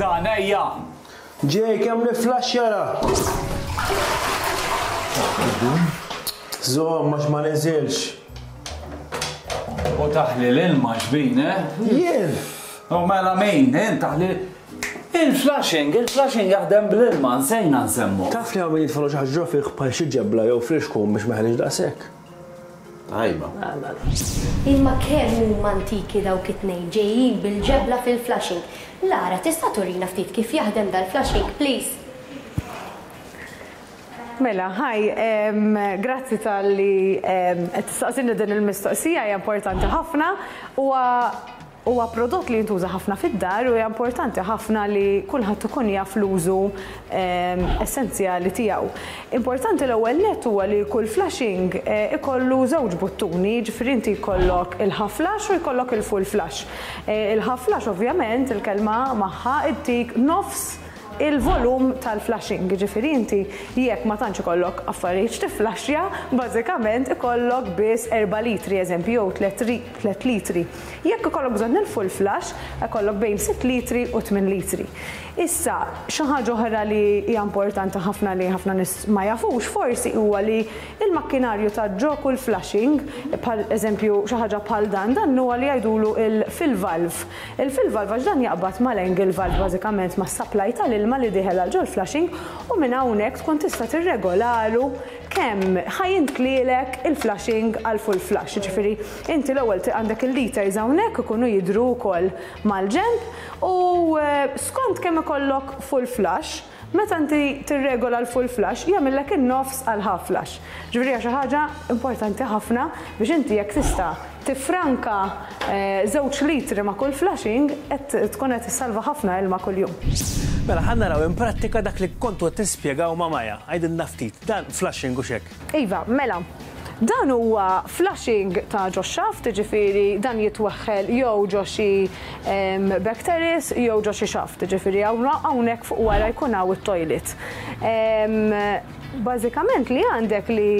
dan, ejja! Ġej kemm niflaxx jara! Żomm għax ma niżilx. U taħli l-ilma xbin, eh? Jien! U mela min, int taħli Il-flushing, il-flushing jaħdem bl-ilma, nsejna nsemmu. Taf li hawn min jitfgħu xi ħaġa ġo fih bħal xi ġebla jew flixkun biex ma jħallix daqshekk. Tajba. Imma kemm huma antiki dawk it-tnejn ġejjin bil-ġebla fil-flushing. Lara, tista' turina ftit kif jaħdem dal-flushing, please? Mela, hi, grazzi talli qed tistaqsini din il-mistoqsija, hija importanti ħafna. Huwa huwa prodott li jintuża ħafna fid-dar u hija importanti ħafna li kulħadd ikun jaf l-użu essenzjali tiegħu. Importanti l-ewwel nett huwa li kull flushing ikollu żewġ buttuni, jiġifieri inti jkollok il-half flush u jkollok il-full flush. Il-half flush ovvjament il-kelma magħha ttik nofs il-volum tal-flushing, jiġifieri inti jekk ma tantx ikollok affarijiet x'tifflaxxja, bażikament ikollok biss erba' litri eżempju jew tliet litri. Jekk ikollok bżonn il-full flush, ikollok bejn sitt litri u tmien litri. Issa, xi ħaġa oħra li hija importanti ħafna li ħafna nies ma jafux forsi huwa li l-makkinarju ta' ġo kull flushing, bħal eżempju xi ħaġa bħal dan, dan huwa li jgħidulu il-fill valve. Il-fill valve għax dan jaqbad mal-angle valve bażikament mas-supply tal-ilma li dieħel għal ġol-flushing u minn hawnhekk tkun tista' tirregolalu kemm ħa jintlielek il-flushing għal full flush. Jiġifieri inti l-ewwel għandek il-liters hawnhekk ikunu jidhru wkoll mal-ġenb u skont kemm ikollok full flush, Meta inti tirregola l-full flush, jagħmillek in-nofs għal half flush. Ġifieri hija xi ħaġa importanti ħafna biex inti jekk tista' tiffranka żewġ litri ma' kull flushing qed tkun qed issalva ħafna ilma kuljum. Mela ħa naraw in prattika dak li kontu qed tispjegaw ma' Maya. Għidilna ftit, dan flushing hux hekk? Iva, mela. Dan huwa flushing ta' ġo x-xaft, jiġifieri dan jitweħħel jew ġo xi back terrace jew ġo xi xaft, jiġifieri hawnhekk fuq wara jkun hawn it-toilet. Bażikament li għandek li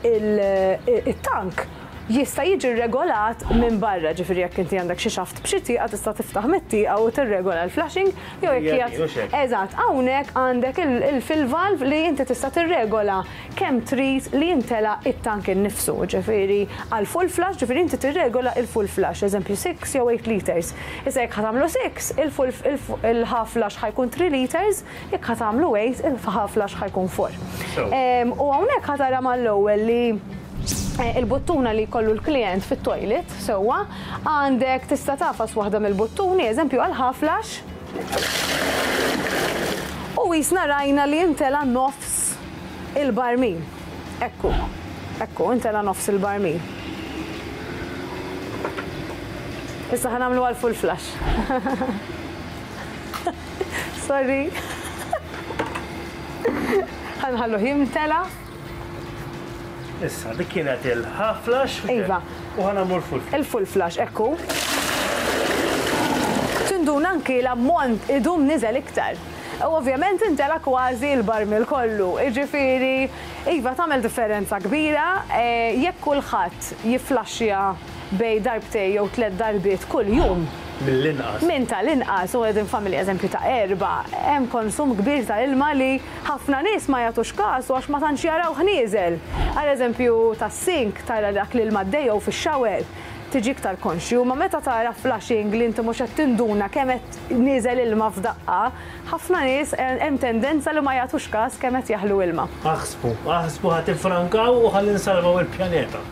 it-tank jista' jiġi rregolat minn barra, ġifieri jekk inti għandek xi xaft b'xi tieqa tista' tiftaħ mit-tieqa u tirregola l-flushing jew jekk qiegħed. Eżatt, hawnhekk għandek il-fill valve li inti tista' tirregola kemm trid li jimtela t-tank innifsu, ġifieri għal full flush, ġifieri inti tirregola il-full flush, eżempju 6 jew 8 liters. Issa jekk ħa tagħmlu 6, il-half flush ħa jkun 3 liters, Jekk ħa tagħmlu 8, il-half flush ħa jkun 4. U hawnhekk ħa tara mal-ewwel li il-buttuna li jkollu l-klijent fit-toilet, sewwa, għandek tista' tagħfas waħda mill-buttuni, eżempju għal half flush, u qisna rajna li imtela nofs il-barmil. Ekku, ekku, imtela nofs il-barmil. Issa ħa nagħmlu għal full flush. Sorry. Ħa nħalluh jimtela. Issa, dik kienet il-half flush. Iva. U ħa nagħmlu l-full flush. Il-full flush, ekku. Tinduna anki l-ammont idum niżel iktar. U ovvjament intela kważi l-barmil kollu. Jiġifieri, iva tagħmel differenza kbira jekk kulħadd jifflaxxja bejn darbtejn jew tlett darbiet kuljum. Mill-inqas. Minn tal-inqas, u qegħdin f'familja eżempju ta' erbgħa, hemm konsum kbir ta' ilma li ħafna nies ma jagħtux kasu għax ma tantx jarawh nieżel. Għal eżempju tas-sink tara dak l-ilma għaddej jew fix-shower tiġi iktar konxju, imma meta tara flushing li inti mhux qed tinduna kemm qed nieżel ilma f'daqqa, ħafna nies hemm tendenza li ma jagħtux każ kemm qed jaħlu ilma. Aħsbu, aħsbu ħa tiffrankaw u ħalli nsalvaw il-pjaneta.